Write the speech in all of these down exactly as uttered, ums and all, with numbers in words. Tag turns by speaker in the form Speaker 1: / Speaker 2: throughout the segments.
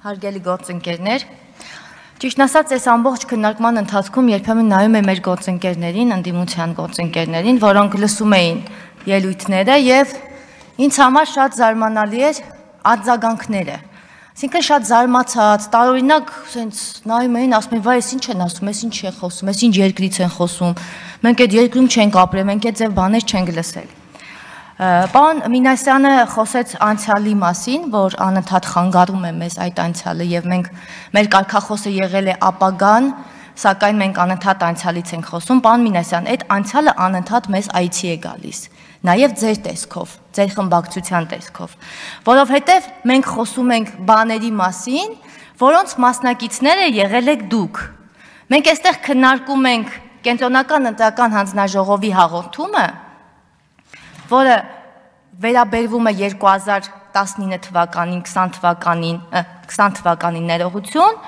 Speaker 1: Հարգելի գործընկերներ, ճիշտ ասած, այս ամբողջ քննարկման ընթացքում երբեմն նայում եմ մեր գործընկերներին, ընդդիմության գործընկերներին, որոնք լսում էին ելույթները եւ ինձ համար շատ զարմանալի էր արձագանքները։ Այսինքն շատ զարմացած, տարօրինակ sense նայում էին, ասում են, վայ, այս ինչ են ասում, այս ինչ է խոսում, այս ինչ երկրից են խոսում։ Մենք այդ երկրում չենք ապրել, մենք այդ ձև բաներ չենք լսել։ Պարոն Մինասյանը խոսեց անցյալի մասին, որ անընդհատ խանգարում է մեզ այդ անցյալը եւ մենք մեր կարգախոսը եղել է ապագան, սակայն մենք անընդհատ անցյալից ենք խոսում։ Պարոն Մինասյան, այդ անցյալը անընդհատ մեզ այցի է գալիս, նաեւ ձեր տեսքով, ձեր խմբակցության տեսքով, որովհետեւ մենք խոսում ենք բաների մասին, որոնց մասնակիցները եղել եք դուք։ Մենք այստեղ քննարկում ենք կենտրոնական ընտրական հանձնաժողովի հաղորդումը, որը վերաբերվում է երկու հազար տասնինը թվականին, քսան թվականին, քսան թվականին ներողություն,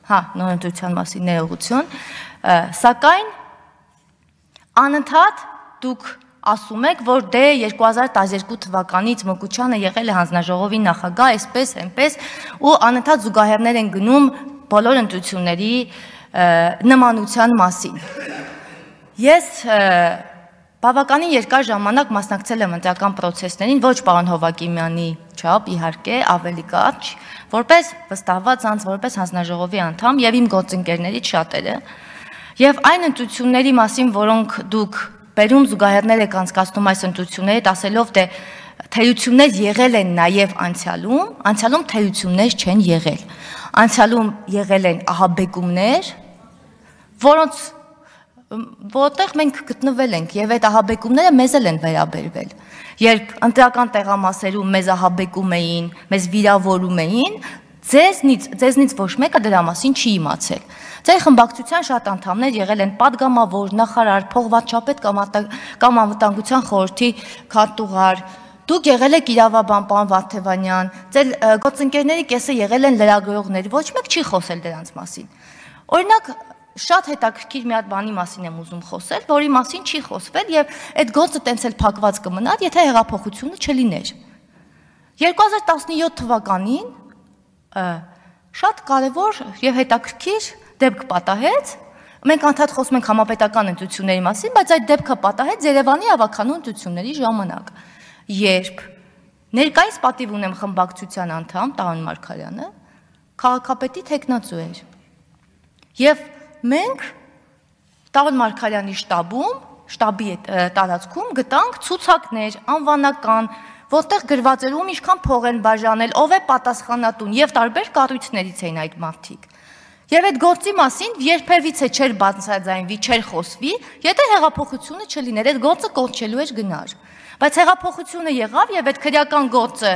Speaker 1: հա, նորընտրության մասին ներողություն, սակայն անընդհատ դուք ասում եք, որ դե երկու հազար տասներկու թվականից Մկուչյանը եղել է հանձնաժողովի նախագահ, այսպես, այնպես, ու անընդհատ զուգահեռներ են գնում բոլոր ընտրությունների նմանության մասին։ Ես բավականին երկար ժամանակ մասնակցել եմ ընտրական պրոցեսներին, ոչ պարոն Հովակիմյանի չափ, իհարկե, ավելի կարճ, որպես վստահված անձ, որպես հանձնաժողովի անդամ եւ իմ գործընկերներից շատերը, եւ այն ընտրությունների մասին, որոնք դուք բերում զուգահեռներ եք անցկացնում այս ընտրություններից, ասելով թե թերություններ եղել են նաեւ անցյալում, անցյալում թերություններ չեն եղել։ Անցյալում եղել են ահաբեկումներ, որոնց որտեղ մենք գտնվել ենք եւ այդ ահաբեկումները մեզ էլ են վերաբերվել։ Երբ ընտրական տեղամասերում մեզ ահաբեկում էին, մեզ վիրավորում էին, ձեզնից, ձեզնից ոչ մեկը դրա մասին չի իմացել։ Ձեր խմբակցության շատ անդամներ եղել են падգամավոր, նախարար, փողվատչապետ կամ անվտանգության խորհրդի քարտուղար։ Դուք եղել եք իրավաբան, պարոն Վարդևանյան, ձեր գործընկերների կեսը եղել են լրագրողներ, ոչ մեկ չի խոսել դրանց մասին։ Օրինակ, շատ հետաքրքիր մի հատ բանի մասին եմ ուզում խոսել, որի մասին չի խոսվել եւ այդ գործը տենց էլ փակված կմնար, եթե հեղափոխությունը չլիներ։ երկու հազար տասնյոթ թվականին շատ կարևոր եւ հետաքրքիր դեպք պատահեց։ Մենք անդադ խոսում ենք համապետական ընտրությունների մասին, բայց այդ դեպքը պատահեց Երևանի ավականու ընտրությունների ժամանակ, երբ ներկայիս պատիվ ունեմ խմբակցության անդամ Տարոն Մարգարյանը քաղաքապետի թեկնածու էր։ Եվ մենք Տարոն Մարգարյանի շտաբում, շտաբի տարածքում գտանք ցուցակներ, անվանական, որտեղ գրված էր ում ինչքան փող են բաժանել, ով է պատասխանատուն եւ տարբեր կառույցներից էին այդ մարդիկ։ Եվ այդ գործի մասին երբևիցե չէր բացաձայնվի, չէր խոսվի, եթե հեղափոխությունը չլիներ, այդ գործը կորչելու էր գնար։ Բայց հեղափոխությունը եղավ եւ այդ քրեական գործը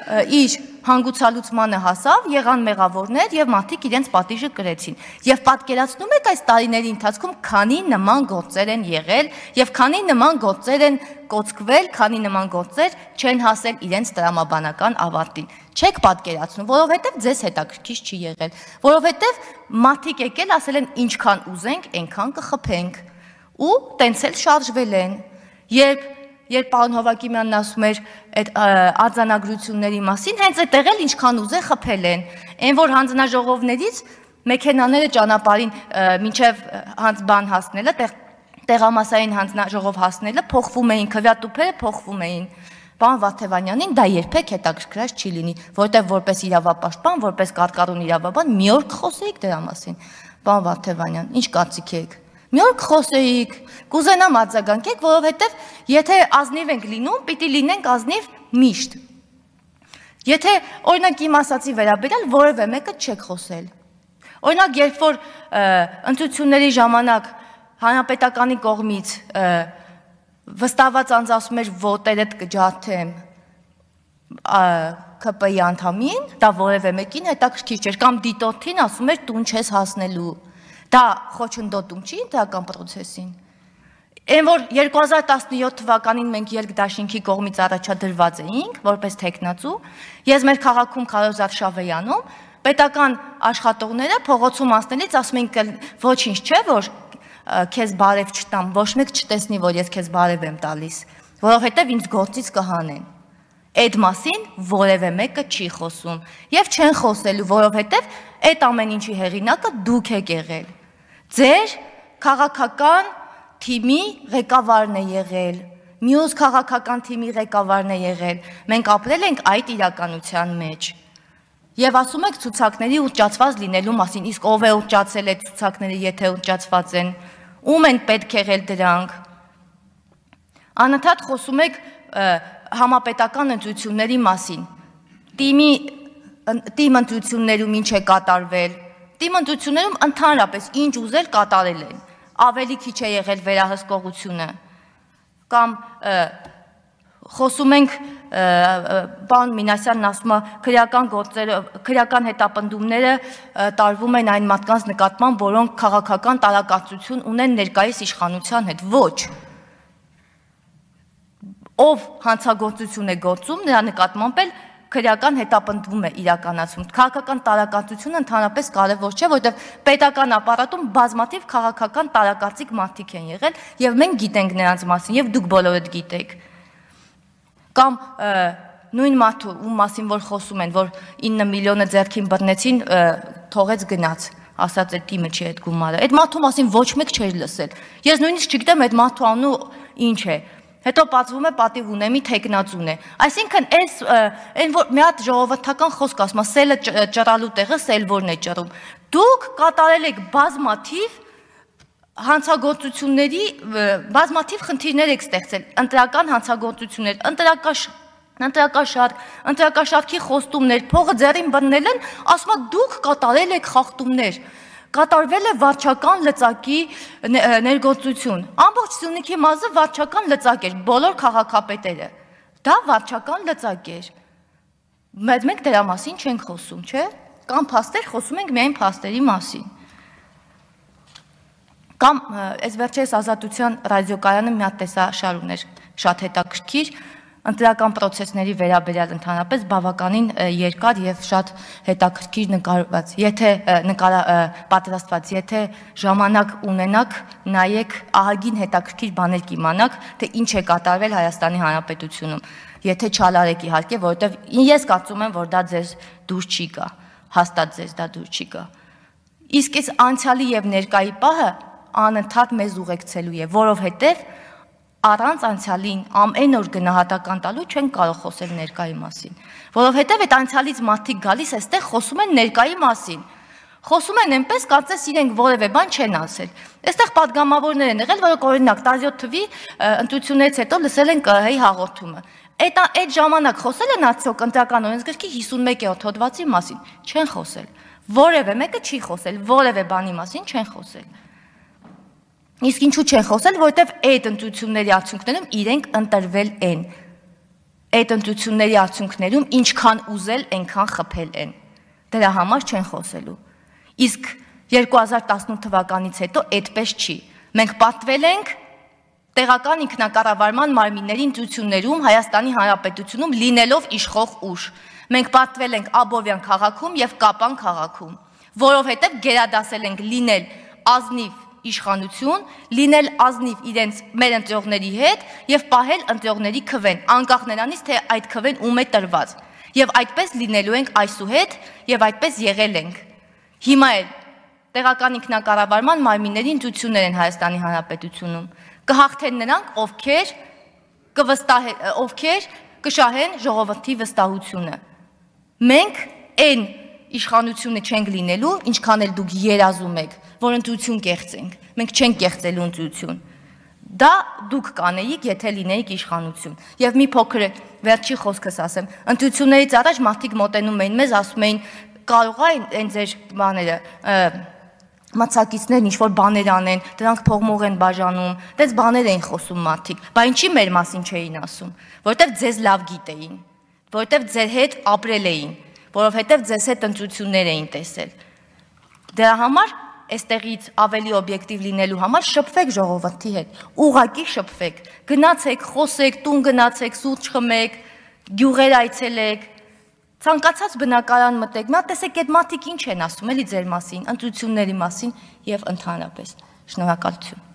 Speaker 1: իր հանգուցալուծմանը հասավ, եղան մեղավորներ եւ մարդիկ իրենց պատիժը կրեցին։ Եվ պատկերացնում եք այս տարիների ընթացքում քանի նման գործեր են եղել եւ քանի նման գործեր են կոծկվել, քանի նման գործեր չեն հասել իրենց տրամաբանական ավարտին։ Չեք պատկերացնում, որովհետեւ ձեզ հետաքրքիր չի եղել, որովհետեւ մարդիկ եկել ասել են ինչքան ուզենք, այնքան կխփենք ու տենց էլ շարժվել են։ Երբ Երբ պարոն Հովակիմյանն ասում էր այդ արձանագրությունների մասին, հենց այդտեղ էլ ինչքան ուզեն խփել են։ Այն որ հանձնաժողովներից մեքենաները ճանապարհին մինչև հանձբան հասնելը, տեղամասային հանձնաժողով հասնելը փոխվում էին, քվեատուփերը փոխվում էին։ Պարոն Վարդևանյանին դա երբեք հետաքրքրած չի լինի, որտեղ որպես իրավապաշտպան, որպես կարգառուն իրավաբան մի օր կխոսեիք դրա մասին։ Պարոն Վարդևանյան, ինչ կարծիք եք։ Մի օր կխոսեիք, կուզենամ արձագանքեք, որովհետև եթե ազնիվ ենք լինում, պիտի լինենք ազնիվ միշտ։ Եթե օրինակ իմ ասացի վերաբերյալ որևէ մեկը չեք խոսել։ Օրինակ, երբ որ ընտրությունների ժամանակ հանրապետականի կողմից վստահված անձ ասում էր ոտերդ կջարդեմ K P I անդամին, դա որևէ մեկին հետաքրքիր չէր, կամ դիտորդին ասում էր տուն չես հասնելու։ Դա խոչընդոտում չի ընտրական պրոցեսին։ Այն որ երկու հազար տասնյոթ թվականին մենք երկդաշինքի կողմից առաջադրված էինք, որպես թեկնածու, ես մեր քաղաքում Քարոզ Արշավեյանում պետական աշխատողները փողոցում անցնելիս ասում էին ոչինչ չէ, որ քեզ բարև չտամ, ոչ մեկ չտեսնի, որ ես քեզ բարև եմ տալիս, որովհետև ինձ գործից կհանեն։ Այդ մասին որևէ մեկը չի խոսում եւ չեն խոսելու, որովհետեւ այդ ամեն ինչի հեղինակը դուք եք եղել։ Ձեր քաղաքական թիմի ղեկավարն է եղել, մյուս քաղաքական թիմի ղեկավարն է եղել։ Մենք ապրել ենք այդ իրականության մեջ։ Եվ ասում եք ցուցակների ուռճացված լինելու մասին, իսկ ով է ուռճացել այդ ցուցակները, եթե ուռճացված են, ում են պետք եղել դրանք։ Անընդհատ խոսում եք համապետական ընտրությունների մասին։ Թիմի թիմ ընտրություններում ինչ է կատարվել։ Թիմ ընտրություններում ընդհանրապես ինչ ուզել կատարել են։ Ավելի քիչ է եղել վերահսկողությունը։ Կամ խոսում ենք պարոն Մինասյանն ասում է քրեական գործերը, քրեական հետապնդումները տարվում են այն մարդկանց նկատմամբ, որոնք քաղաքական տարակացություն ունեն ներկայիս իշխանության հետ։ Ոչ։ Ով հանցագործություն է գործում, նրա նկատմամբ էլ քրեական հետապնդվում է իրականացում։ Քաղաքական տարակացությունը ընդհանրապես կարևոր չէ, որովհետև պետական ապարատում բազմաթիվ քաղաքական տարակացիկ մարդիկ են եղել եւ մենք գիտենք նրանց մասին եւ դուք բոլորդ գիտեք։ Կամ նույն մարդու, ում մասին որ խոսում են, որ ինը միլիոնը ձեռքին բռնեցին, թողեց գնաց, ասաց այդ թիմը չի այդ գումարը։ Այդ մարդու մասին ոչ մեկ չէր լսել։ Ես նույնիսկ չգիտեմ այդ մարդու անունը ինչ է։ Հետո պատվում է պատիվ ունեմի թեկնածուն է։ Այսինքն այս այն որ մի հատ ժողովրդական խոսք ասում է, սելը ճռալու տեղը սելվորն է ճռում։ Դուք կատարել եք բազմաթիվ հանցագործությունների, բազմաթիվ խնդիրներ եք ստեղծել, ընտրական հանցագործություններ, ընտրակաշարք, ընտրակաշարքի խոստումներ, փողը ձեռին բռնել են, ասում է դուք կատարել եք խախտումներ։ Կատարվել է վարչական լծակի ներգործություն։ Ամբողջ Սյունիքի մարզը վարչական լծակ էր, բոլոր քաղաքապետերը։ Դա վարչական լծակ էր։ Բայց մենք դրա մասին չենք խոսում, չէ՞։ Կամ փաստեր, խոսում ենք միայն փաստերի մասին։ Կամ այս վերջերս Ազատության ռադիոկայանը մի հատ տեսաշար ուներ, շատ հետաքրքիր, ընտրական պրոցեսների վերաբերյալ ընդհանրապես բավականին երկար եւ շատ հետաքրքիր նկարված։ Եթե պատրաստված, եթե ժամանակ ունենաք, նայեք, ահագին հետաքրքիր բաներ կիմանաք, թե ինչ է կատարվել Հայաստանի Հանրապետությունում։ Եթե չալարեք իհարկե, որովհետեւ ես կարծում եմ, որ դա ձեզ դուր չի գա, հաստատ ձեզ դա դուր չի գա։ Իսկ այս անցյալի եւ ներկայի պահը անընդհատ մեզ ուղեկցելու է, որովհետեւ առանց անցյալին ամեն օր գնահատական տալու չեն կարող խոսել ներկայի մասին, որովհետև այդ անցյալից մարդիկ գալիս այստեղ խոսում են ներկայի մասին, խոսում են այնպես, կարծես իրենք որևէ բան չեն ասել։ Այստեղ падգամավորներ են եղել, որոնք օրինակ տասնյոթ թվականի ընտրություններից հետո լսել են ԿՀ-ի հաղորդումը։ Այդ այդ ժամանակ խոսել են արդյոք ընտրական օրենսգրքի հիսունմեկերորդ հոդվածի մասին, չեն խոսել։ Որևէ մեկը չի խոսել, որևէ բանի մասին չեն խոսել։ Իսկ ինչու չեն խոսել, որովհետև այդ ընտրությունների արդյունքներում իրենք ընտրվել են։ Այդ ընտրությունների արդյունքներում ինչքան ուզել, այնքան խփել են։ Դրա համար չեն խոսելու։ Իսկ երկու հազար տասնութ թվականից հետո այդպես չի։ Մենք պատվել ենք տեղական ինքնակառավարման մարմինների ընտրություններում Հայաստանի Հանրապետությունում լինելով իշխող ուժ։ Մենք պատվել ենք Աբովյան քաղաքում եւ Կապան քաղաքում, որովհետև գերադասել ենք լինել ազնիվ իշխանություն, լինել ազնիվ իրենց մեր ընտրողների հետ եւ պահել ընտրողների քվեն, անկախ նրանից, թե այդ քվեն ում է տրված։ Եվ այդպես լինելու ենք այսուհետ եւ այդպես եղել ենք։ Հիմա էլ տեղական ինքնակառավարման մարմինների ընտրություններ են Հայաստանի Հանրապետությունում։ Կհաղթեն նրանք, ովքեր կվստահեն, ովքեր կշահեն ժողովրդի վստահությունը։ Մենք այն իշխանությունը չենք լինելու, ինչքան էլ դուք երազում եք, որ ընտրություն կեղծենք։ Մենք չենք կեղծելու ընտրություն։ Դա դուք կանեիք, եթե լինեիք իշխանություն։ Եվ մի փոքր վերջի խոսքս ասեմ, ընտրություններից առաջ մարդիկ մոտենում էին մեզ, ասում էին, կարող է այն ձեր բաները, մացակիցներն ինչ-որ բաներ անեն, դրանք փողմող են բաժանում, դες բաներ էին խոսում մարդիկ, բա ինչի մեր մասին չէին ասում, որովհետև ձեզ լավ գիտեին, որովհետև ձեր հետ ապրել էին, որովհետև ձեզ հետ ընտրություններ էին տեսել։ Դրա համար այստեղից ավելի օբյեկտիվ լինելու համար շփվեք ժողովրդի հետ, ուղղակի շփվեք, գնացեք, խոսեք, տուն գնացեք, սուրճ խմեք, գյուղեր այցելեք, ցանկացած բնակարան մտեք, մի հատ տեսեք այդ մարդիկ ինչ են ասում էլի ձեր մասին, ընտրությունների մասին եւ ընդհանրապես։ Շնորհակալություն։